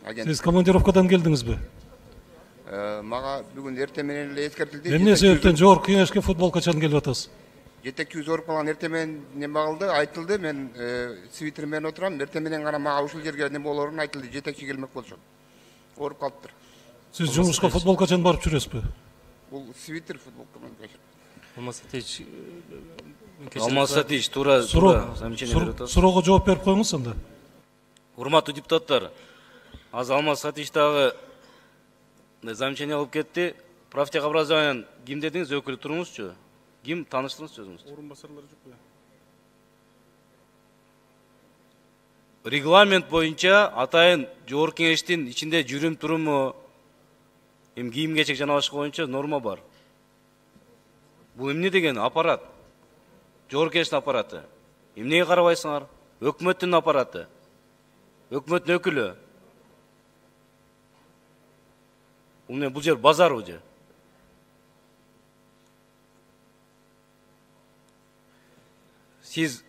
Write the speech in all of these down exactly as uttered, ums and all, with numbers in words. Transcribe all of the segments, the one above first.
агент. Сиз командировкадан келдиңизби? Мага бүгүн эртең менен эле эскертилди. Эмне себептен жогорку кеңешке футбол качан келип атасыз? Жетекчи ооруп калган, эртең менен неме кылды, айтылды. Мен свитер менен отурам. Эртең менен гана мага ушул жерге неме болорун айтылды. Жетекчи келмек болчу. Ооруп калыптыр. Сиз жумушка футбол качан барып жүрөсүзбү? Бул свитер футболка менен. Алмасатович, Алмасатович туура замечание берип атасыз. Суроого жооп берип коюңуз анда. Урматтуу депутаттар, азыр Алмасатович дагы замечание алып кетти. Профтехобразованиянын ким дедиңиз, өкүлү туруңузчу. Ким, тааныштырыңызчы өзүңүз? Орун басарлары жокпу? Регламент боюнча атайын жогорку кеңештин ичинде жүрүм туруму, эми кийим кечек жана башка боюнча норма бар. Бул эмне деген аппарат? Жогорку кеңештин аппараты. Эмнеге карабайсыңар? Өкмөттүн аппараты. Өкмөттүн өкүлү. Бул бул жер базар бул жер. Сиз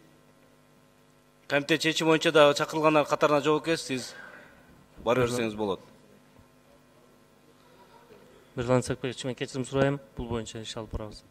комитет чечими боюнча да чакырылгандар катарына жоопкерсиз, сиз бара берсеңиз болот. Мирлан Сакбекович, мен кечирим сурайм, бул боюнча иш алып барабыз.